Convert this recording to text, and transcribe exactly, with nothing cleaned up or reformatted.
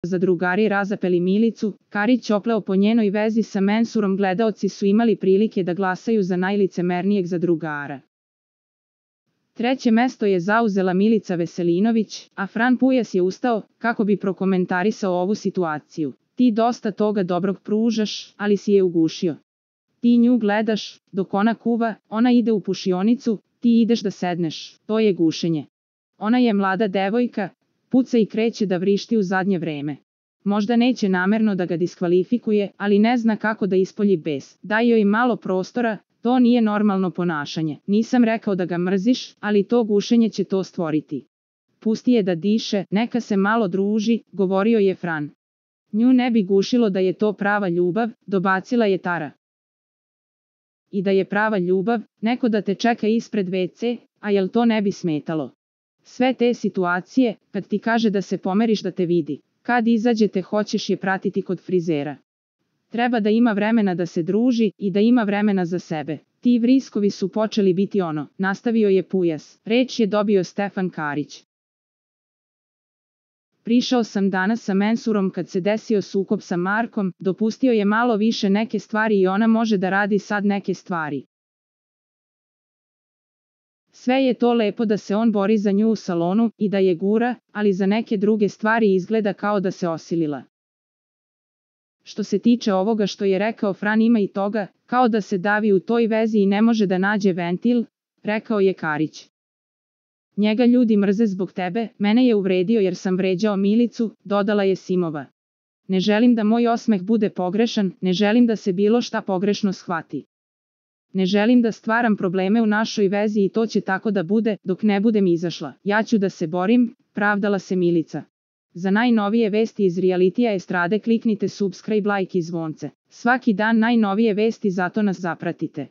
Zadrugari razapeli Milicu, Karić opleo po njenoj vezi sa Mensurom, gledaoci su imali prilike da glasaju za najlicemernijeg zadrugara. Treće mesto je zauzela Milica Veselinović, a Fran Pujas je ustao, kako bi prokomentarisao ovu situaciju. Ti dosta toga dobrog pružaš, ali si je ugušio. Ti nju gledaš, dok ona kuva, ona ide u pušionicu, ti ideš da sedneš, to je gušenje. Ona je mlada devojka, puca i kreće da vrišti u zadnje vreme. Možda neće namerno da ga diskvalifikuje, ali ne zna kako da ispolji bes. Daj joj malo prostora, to nije normalno ponašanje. Nisam rekao da ga mrziš, ali to gušenje će to stvoriti. Pusti je da diše, neka se malo druži, govorio je Fran. Nju ne bi gušilo da je to prava ljubav, dobacila je Tara. I da je prava ljubav, neko da te čeka ispred ve ce, a jel to ne bi smetalo? Sve te situacije, kad ti kaže da se pomeriš da te vidi, kad izađete hoćeš je pratiti kod frizera. Treba da ima vremena da se druži i da ima vremena za sebe. Ti vriskovi su počeli biti ono, nastavio je Pujas. Reč je dobio Stefan Karić. Prišao sam danas sa Mensurom kad se desio sukob sa Markom, dopustio je malo više neke stvari i ona može da radi sad neke stvari. Sve je to lepo da se on bori za nju u salonu i da je gura, ali za neke druge stvari izgleda kao da se osilila. Što se tiče ovoga što je rekao Fran, ima i toga, kao da se davi u toj vezi i ne može da nađe ventil, rekao je Karić. Njega ljudi mrze zbog tebe, mene je uvredio jer sam vređao Milicu, dodala je Simova. Ne želim da moj osmeh bude pogrešan, ne želim da se bilo šta pogrešno shvati. Ne želim da stvaram probleme u našoj vezi i to će tako da bude, dok ne budem izašla. Ja ću da se borim, pravdala se Milica. Za najnovije vesti iz realitija estrade kliknite subscribe, like i zvonce. Svaki dan najnovije vesti, zato nas zapratite.